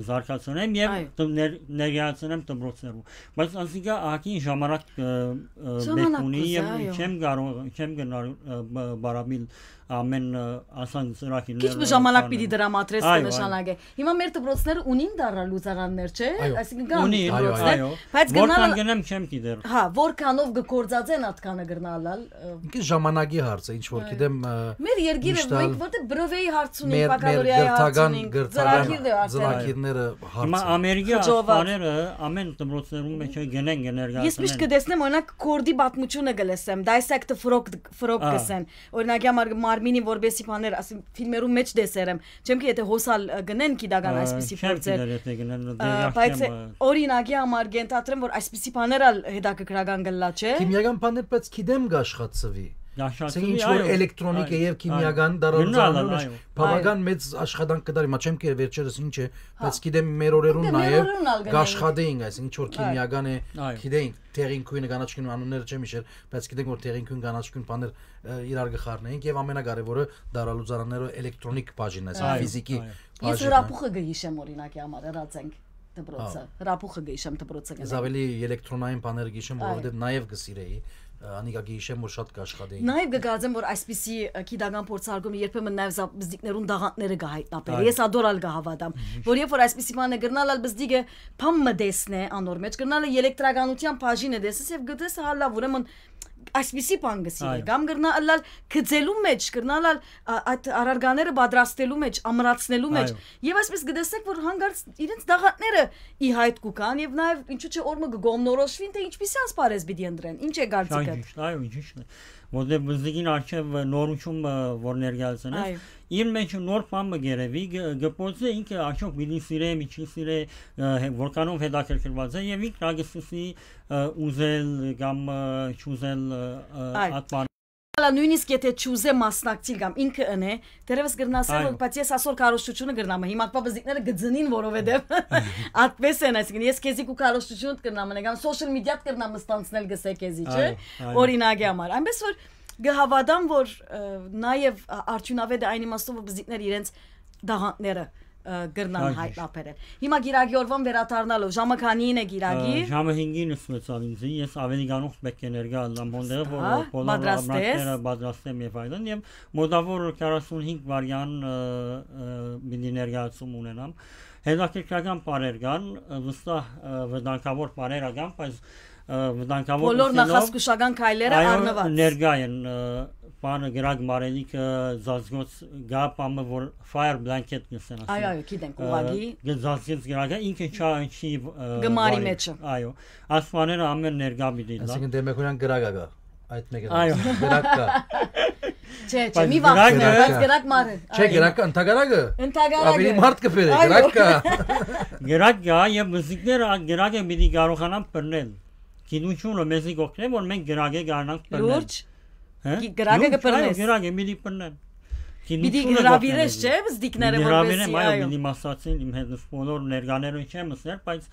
զարգացնեմ եւ Այո։ տ-, ներ-, ներկայացնեմ դպրոցներում։ Բայց ասիկա ահագին ժամանակ, ը, ը, Ժամանակ պետք ունի կուզի, եւ այո։ չեմ կարող, չեմ գնար, ը, բ-, բարաբիլ ամեն, ը, ասան ծրագիրները Քիչ մը ժամանակ պիտի դրամատրես Այո, կը այո։ նշանակե։ Հիմա մեր դպրոցները ունին դարալուծարաններ, չէ՞։ Այո։ Այսինքն կան Ունի, դպրոցներ, այո, այո։ բայց Որքան գնալ գնեմ չեմ գիտեր։ Հա, որքանով կգործածեն ատկանը գրնալալ, ը, Ինքը ժամանակի հարց է, ինչ որ Այո։ գիտեմ, ը, մեր երկիրը միշտ ալ մենք որտե բրովեի հարց ունենք, մեր, մեր բակալորիայի հարց գրթական, ունենք, գրթական ծրագիր դե արդեն։ ծրագիրները հարց Հիմա են։ Ամերիկա Խճովված։ Ասպաները ամեն դպրոցներում մեջ գնեն, կներկայացնեն։ Ես միշտ կտեսնեմ, օրինակ, կորդի պատմությունը կլսեմ, Dissect the Frog, Frog Ա։ կսեն։ Օրինակի համար Մարմինին որպեսի բաներ, ասեմ, ֆիլմերում մեջ տեսեր եմ, չեմ գիտի, եթե հոսալ, ը, գնեն գիտական Ա, այսպիսի չեմ փորձեր։ գիտեր, եթե գնեն, Ա, դեռ բայց չեմ, ը, օրինակի համար կենթադրեմ, որ այսպիսի բաներ ալ հետաքրքրական կլա, չէ՞։ Քիմիական բաներ, բայց գիտեմ կաշխատցվի։ Կաշխատցվի, Ասենք ինչ որ այո, էլեկտրոնիկ է այո, եւ քիմիական այո։ դարալուծարանը Գնալն, ուրիշ այո։ բավական Այո։ մեծ աշխատանք կդարի, մա չեմ գիտեր վերջերս ինչ է, Հա։ բայց գիտեմ մեր օրերուն Դե, մեր նաև օրերուն ալ գնենք։ կաշխատեինք, այսինքն ինչ որ Այո։ քիմիական է, Այո։ գիտենք, տեղին քույնը, կանաչ քույնը անունները չեմ հիշեր, բայց գիտենք որ տեղին քույն, կանաչ քույն բաներ, ը, իրար կխառնեինք եւ ամենակարևորը դարալուծարանները էլեկտրոնիկ բաժինն է, այսինքն Այո, ֆիզիկի այո։ Ես բաժինը։ հրապուխը կը հիշեմ, օրինակ, համար հրած ենք դպրոցը, Հա։ հրապուխը կը հիշեմ դպրոցը Ես գնալ։ ավելի էլեկտրոնային բաները կը հիշեմ, Այո։ որովհետեւ նաև կը սիրեի, Անիկա գիշեմ որ շատ կաշխատեին։ Նաեւ կը կարծեմ, որ այսպիսի, ը, գիտական փորձարկումը երբեմն նաեւ զա-, բզդիկներուն դաղանտները կը հայտնաբերի։ Այո։ Ես ադոր ալ կը հավատամ, որ երբ որ այսպիսի բան է, կրնալ ալ բզդիկը փամ մը տեսնէ անոր մեջ, կրնալ է ելեկտրականության բաժինը տեսնես եւ գտես հալա, ուրեմն այսպիսի բան կը սիրէ, Այո։ կամ կրնա ըլլալ գծելու մեջ, կրնալ ալ, ա, այդ առարկաները պատրաստելու մեջ, ամրացնելու մեջ։ Այո։ Եվ այսպես կտեսնեք, որ հանկարծ իրենց դաղանտները ի հայտ կու գան, եւ նաեւ ինչու՞ չէ օր մը կը գոմնորոշվին, թե ինչպիսի ասպարեզ պիտի ընտրեն, ինչ է կարծիքդ։ Շատ ճիշդ, այո, ճիշդ է։ Որտեւ բզդիկին առջեւ նորություն, ը, որ ներկայացնես, Այո։ իր մեջ նոր բան մը գերեւի, գ-, գ-, փորձէ ինքը արդյոք պիտի սիրե, մի չի սիրե, ը, հե-, որքանով հետաքրքրված է, եւ ինքն ալ կը սկսի, ը, ուզել կամ, ը, չուզել, ը, ը, Այո։ այդ բան Հալա նոյնիսկ եթե չուզէ մասնակցիլ կամ ինքը ընէ, դեռևս կրնասեմ, Այո։ որ բայց ես ասոր քարոշչությունը կրնամ, հիմա կվա բզիկները կծնին, որովհետև այդպես են, այսինքն ես քեզի կու քարոշչությունդ կրնամ, նե կամ social media-տ կրնամ ստանցնել գսե քեզի, չէ՞, Այո, այո։ օրինակի համար։ Այնպես որ կհավատամ, որ, ը, նաև ա-, արդյունավետ է այն իմաստով, որ բզիկները իրենց դաղանտները, ը, կրնան Այո, հայտնաբերել։ Հիմա գիրագի օրվան վերադառնալով, ժամը քանին է գիրագի։ Ը, ժամը հինգին ըսվեցաւ ինձ, ես ավելի գանուխ պէտք է ներկայ ըլլամ հոնդերը, որ Հա, բոլոր պատրաստես։ ամրակները պատրաստեմ եւ այլն, եւ մոտավոր քառասունհինգ վարյան, ը, ը, պիտի ներկայացում ունենամ։ Հետաքրքրական բաներ կան, ը, վստահ, ը, վտանգավոր բաներ ա կան, բայց, ը, վտանգավոր Բոլոր ըսելով, նախազգուշական քայլերը այո, առնված։ ներկայ են, ը, բանը գրակ մարելիքը, զազգոց գա բամը, որ fire blanket կսեն, Այո, ասեն, այո, գիտենք, ը, ուղղակի։ կը զազգեց գրակը, ինքը չա, չի, ը, Գմարի վարի։ մեջը։ Այո, այս բաները ամեն ներկայ պիտի լա։ Այսինքն դեմեքունյան գրակա կա, այդ մեկը Այո։ դրած, գրակ կա։ Չէ, չէ, Բայց մի վախ գրակը, ունի, բայց գրակ մար է։ Չէ, Այո։ գրակը, ընդհակառակը, Ընդհակառակը։ ավելի մարդ կբերե, Այո։ գրակ կա։ Գրակ կա, եւ մզիկները այդ գրակը պիտի կարողանան բռնել։ Գիտությունը մեզի կօգնէ, որ մենք գրակը կարողանանք բռնել։ Լուրջ։ Հե? Գի-, գրակը Լուրջ, կբռնես։ այո, գրակը պիտի բռնեն։ Պիտի Գիտությունը հրավիրես, կօգնեն։ չէ՞, բզդիկները, Հրավիրեմ, որպեսզի, այո, այո։ պիտի մասացին իմ հետ սպոլոր ներկաներուն չեմ ըսներ, բայց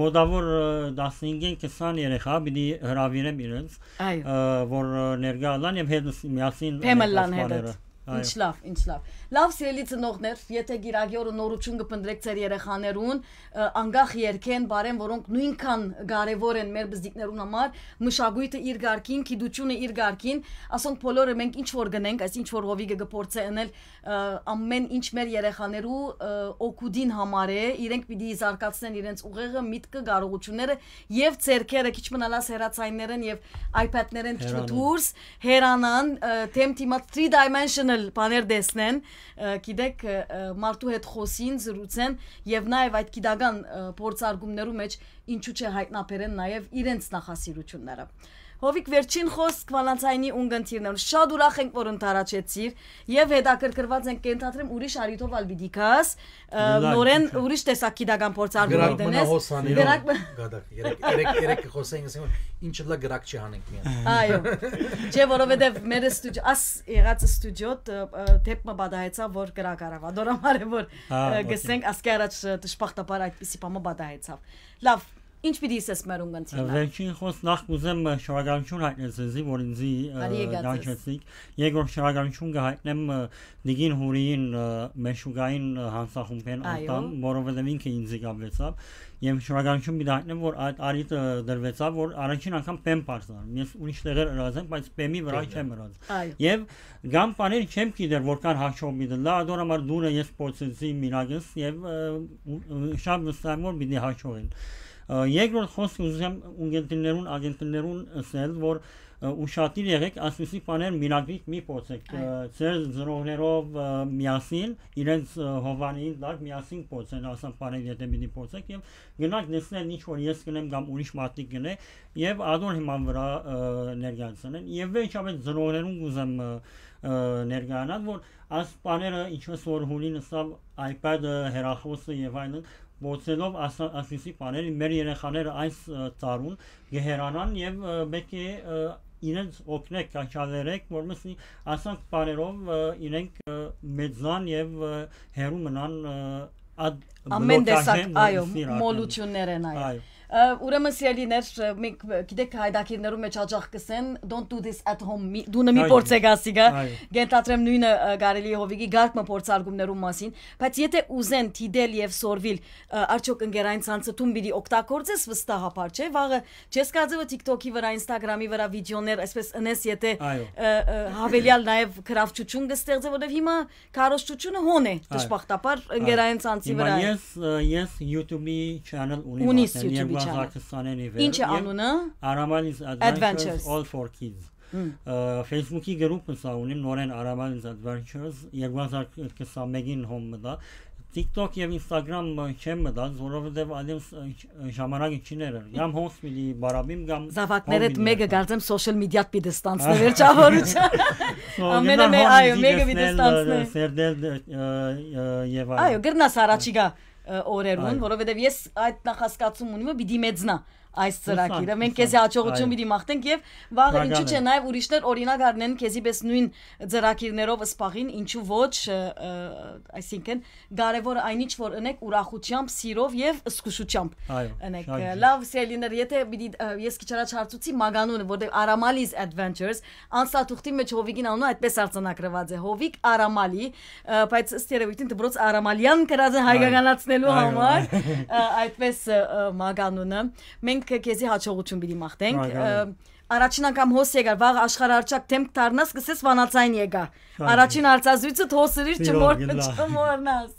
մոտավոր, ը, տասնհինգ քսան երեխա պիտի հրավիրեմ իրենց, Այո։ ը, որ, ը, ներկայ ըլլան եւ հետ նս-, միասին Փեմլլան անենք այդ հետդ։ բաները։ Այո։ Ինչ լավ, ինչ լավ։ Լավ, սիրելի ծնողներ, եթե գիրագի օրը նորություն կփնտրեք ձեր երեխաներուն, ը, անկախ երկեն, բարեն, որոնք նույնքան կարևոր են մեր բզդիկներուն համար, մշակույթը իր գարկին, գիտությունը իր գարկին, ասոնք բոլորը մենք ինչ որ գնենք, այս ինչ որ հովիգը կփորձե ընել, ը, ամեն ինչ մեր երեխաներու, ը, օգուտին համար է, իրենք պիտի զարգացնեն իրենց ուղեղը, միտքը, կարողությունները եւ ձեռքերը, քիչ մնալաս հեռացայիններեն եւ iPad-ներեն քիչ մը Հեռանան։ դուրս, հեռանան, ը, թեմ թիմա three dimensional բաներ տեսնեն, ը, գիտեք, ը, ը, մարդու հետ խոսին, զրուցեն եւ նաեւ այդ գիտական, ը, փորձարկումներու մեջ ինչու՞ չէ հայտնաբերեն նաեւ իրենց նախասիրությունները։ Հովիկ, վերջին խոսք Վալանցայնի ունգընտիրներուն։ Շատ ուրախ ենք, որ ընդառաջեցիր եւ հետաքրքրված ենք, կենթադրեմ ուրիշ արիթով ալ պիտի գաս, ը, Լավ, նորեն լավ։ ուրիշ տեսակ գիտական փորձարկում Գրակ մնա դնես։ հոսանիրով Գրակ մնա գադակ, երեք, երեք, երեք կխոսենք, ասենք, ինչ լա գրակ չի հանենք միան։ Այո։ Չէ, որովհետեւ մեր ստուդիո, աս եղած ստուդիոտ, ը, ը, դեպ մը բադահեցա, որ գրակ արավ, ադոր համար է, որ, Հա, ը, օքեյ։ գսենք, ասկի առաջ, ը, դժբախտաբար այդպիսի բամը բադահեցավ։ Լավ, ինչ պիտի ասես մեր ունգընտիրները։ Վերջին խոս նախ կուզեմ, ը, շնորհակալություն հայտնել ձեզի, որ ինձի, ը, Արի եկած ես։ կանչեցիք։ Երկրորդ շնորհակալություն կհայտնեմ, ը, Նիգին Հուրիին, ը, Մեշուկային, ը, հանցախումբեն Այո։ անդամ, որովհետև ինքը ինձի կապվեցավ։ Եվ շնորհակալություն պիտի հայտնեմ, որ այդ արիտը դրվեցավ, որ առաջին անգամ բեմ բարձր։ Ես ուրիշ տեղեր ըրած եմ, բայց բեմի վրա Բեմի։ չեմ ըրած։ Այո։ Եվ կան բաներ չեմ գիտեր, որքան հաջող պիտի լա, ադոր համար դուրը ես փորձեցի մինագս և, ը, ու, ու շատ վստահ եմ, որ պիտի հաջողեն։ Ը, երկրորդ խոսք ուզում եմ ունգընտիրներուն, ագենտներուն ասել, որ, ը, ուշադիր եղեք, ասպիսի բաներ մինագրիկ մի փորձեք, ը, Այո։ ձեր ծնողներով, ը, միասին, իրենց, ը, հովանին տակ միասին փորձեն, ասան բաներ եթե պիտի փորձեք, և գնաք տեսնել ինչ որ ես կնեմ կամ ուրիշ մարդիկ կնե, և ադոր հիման վրա, ը, ներկայացնեն։ Եվ վերջապես ծնողներուն կուզեմ, ը, ը, ներկայանալ, որ այս բաները, ինչպես որ Հունին ըսավ, iPad-ը, հեռախոսը և այլն, փորձելով աս-, ասպիսի բաներ, մեր երեխաները այս, ը, տարուն կհեռանան և, ը, պետք է, ը, իրենց օգնեք, կաչալերեք, որպեսզի ասանք բաներով, ը, իրենք, ը, մեծան և, ը, հեռու մնան, ը, այդ Ամեն տեսակ, բլոկաժեն, որ այո, սիրական։ մոլություններ են, այո։ Այո։ Ուրեմն, սիրելիներ, մենք գիտեք, հայդակիրներու մեջ հաճախ կսեն, "Don't do this at home", մի, դունը մի փորձեք ասիկա։ Կենթադրեմ նույնը կարելի է Հովիկի գարկ մը փորձարկումներու մասին, բայց եթե ուզեն դիտել եւ սորվիլ, արդյոք ընկերային ցանցը դուն պիտի օգտագործես վստահաբար, չէ՞։ Վաղը չես կարծե որ TikTok-ի վրա, Instagram-ի վրա վիդեոներ այսպես ընես, եթե հավելյալ նաեւ գրավչություն կստեղծե, որովհետեւ հիմա քարոզչությունը հոն է, դժբախտաբար, ընկերային ցանցի վրա է։ Ես, ես YouTube-ի channel ունի, ունիս YouTube-ի channel։ Ինչ է անունը? Aramal is Adventures, Adventures, All for Kids։ Facebook-ի գրուպը սա ունիմ, նորեն Aramal is Adventures, երկու հազար քսանմեկին հոն մտա։ TikTok եւ Instagram չեմ մտած, որովհետեւ ալեւս ժամանակը չի ներեր։ Կամ հոս պիտի բարաբիմ, կամ Զավակներդ մեկը կարծեմ social media-տ պիտի ստանցնե վերջավորության։ Ամենը մե-, այո, մեկը պիտի ստանցնե։ Սերդել, ը, ը, եւ այլն։ Այո, գրնաս առաջիկա, ը, օրերուն, այո, որովհետեւ ես այդ նախասկացում ունիմ, որ պիտի մեծնա այս ծրագիրը։ Հուսանք, մենք քեզի հաջողություն պիտի մաղթենք եւ վաղը, ինչու՞ չէ, նաեւ ուրիշներ օրինակ առնեն քեզի պես նույն ծրագիրներով սպաղին, ինչու՞ ոչ, ը, ը, այսինքն կարեւորը այն ինչ որ ընեք ուրախությամբ, սիրով եւ զգուշությամբ։ Այո, ընեք։ Լավ, սիրելիներ, եթե պիտի, ը, ես քիչ առաջ հարցուցի մագանունը, որտեղ Aramal is Adventures, անցնատուղթի մեջ Հովիկին անունը այդպես արձանագրված է, Հովիկ Արամալի, ը, բայց ըստ երևույթին դպրոց Արամալյան գրած են հայկականացնելու համար, ը, այդպես, ը, ը, մագանունը։ Մենք քեզի հաջողություն պիտի մաղթենք։ Ը, առաջին անգամ հոս եկար, վաղ աշխարհարչակ դեմք դառնաս, կսես վանացային եկա։ Առաջին հարցազրույցը հոսրիր, չմոր-, չմոռնաս։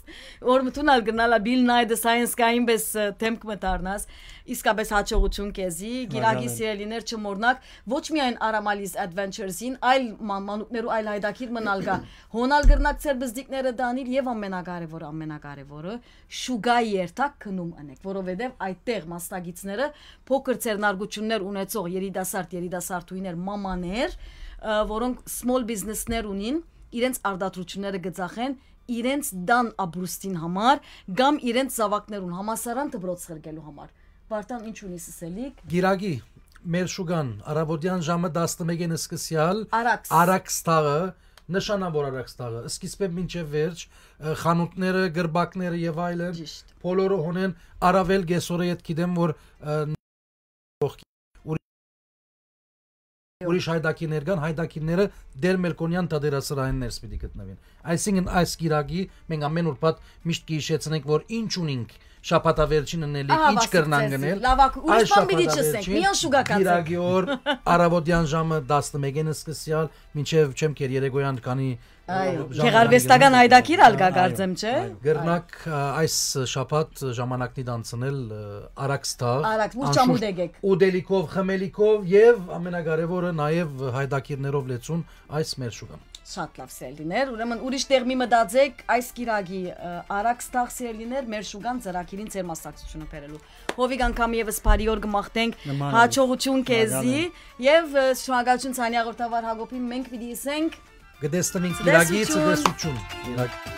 Որ մտուն ալ գնալա Bill Nye the Science Guy-ին պես, ը, դեմք մը դառնաս։ Իսկապես հաջողություն քեզի, գիրագի սիրելիներ, չմոռնաք, ոչ միայն Aramal is Adventures-ին, այլ մա-, մանուկներու այլ հայդակիր մնալ կա։ Հոն ալ կրնաք ձեր բզդիկները դանիլ եւ ամենակարեւորը, ամենակարեւորը, շուկայի երթակ գնում ընեք, որովհետեւ այդտեղ մասնակիցները փոքր ձեռնարկություններ ունեցող երիտասարդ, երիտասարդուհիներ, մամաներ, ը, որոնք small business-ներ ունին, իրենց արտադրությունները կծախեն իրենց տան ապրուստին համար կամ իրենց զաւակներուն համալսարան դպրոց ղրկելու համար։ Վարդան, ինչ ունի սսելիք։ Գիրագի, մեր շուկան, առավոտեան ժամը տասնմեկին սկսեալ, Արաքս։ Արաքս թաղը, նշանաւոր Արաքս թաղը, սկիզբէն մինչեւ վերջ, ը, խանութները, գրպակները եւ այլն, ճիշտ, բոլորը հոնեն առավել կեսօրը, ետ գիտեմ, որ, ը, ուրի-, ուրիշ հայդակիրներ կան, հայդակիրները Տեր Մելքոնեան թատերասրահին ներս պիտի գտնուին։ Այսինքն այս գիրագի մենք ամեն ուրբաթ միշտ կհիշեցնենք, որ ինչ ունինք շաբաթավերջին ընելիք, ահա, ինչ կրնանք գնել։ Լավ, ակ-, ուրիշ բան պիտի չըսենք, միան շուկա կացեք։ Գիրագի օր առավոտեան ժամը տասնմեկին սկսեալ մինչեւ չեմ կեր երեկոյան քանի, այո, ը, ժամը գեղարվեստական կան, հայդակիր ալ կա, այո, կարծեմ, չէ՞։ Այո։ Կրնաք, ը, այս շաբաթ ժամանակնի դանցնել, ը, Արաքս թաղ, Արաքս, որ անշուշտ չամուտ եկեք, ուտելիքով, խմելիքով եւ ամենակարեւորը նաեւ հայդակիրներով լեցուն այս մեր շուկան։ Շատ լավ, սիրելիներ, ուրեմն ուրիշ տեղ մի մտածեք, այս կիրագի, ը, Արաքս թաղ, սիրելիներ, մեր շուկան ծրագիրին ձեր մասնակցությունը բերելու։ Հովիկ, անգամ եւս բարի օր կմաղթենք, նման է, հաջողություն քեզի, շնորհակալ եմ, եւ, ը, շնորհակալություն Ցանի հաղորդավար Հակոբին, մենք պիտի ասենք կտեսնվենք կիրագի, ցտեսություն, ցտեսություն։ Կիրագի։